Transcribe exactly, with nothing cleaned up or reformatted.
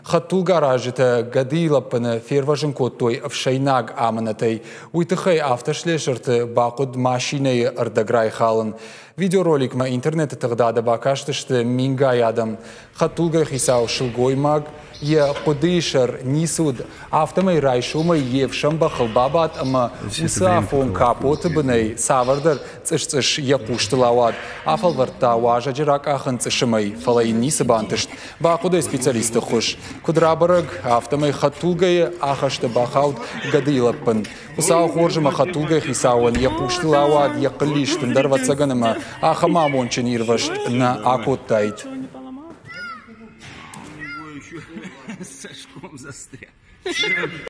Хӕдтулгӕ аразджытӕ гӕдыйы лӕппыны фервӕзын кодтой ӕфсӕйнаг амынӕтӕй. Уый тыххӕй автослесырты бахъуыд машинӕйы ӕрдӕг райхалын. Видеороликмӕ интернеты тыгъдады бакастысты мингай адӕм. Хӕдтулгӕйы хицау сылгоймаг йӕ хъуыдыйы сӕр ницы уыд, афтӕмӕй райсомӕй йе фсӕн бӕхыл бабадт ӕмӕ уыцы афон капоты бынӕй цавӕрдӕр цъыс-цъыс йӕ хъустыл ауад. Афӕлвӕрдта уазӕджы ракъахын цъысымӕй, фӕлӕ йын ницы бантыст. Бахъуыд ӕй специалисты ӕххуыс. Куыд рабӕрӕг, афтӕмӕй хӕдтулгӕйы ахӕсты бахауд гӕдыйы лӕппын. Хуыцау хорз ӕмӕ хӕдтулгӕйы хицауӕн йӕ хъустыл ауад йӕ хъыллист, ӕндӕр ӕвӕццӕгӕн ӕмӕ ахӕм амондджын ирвӕзт нӕ акодтаид. Цӕсгом застрял.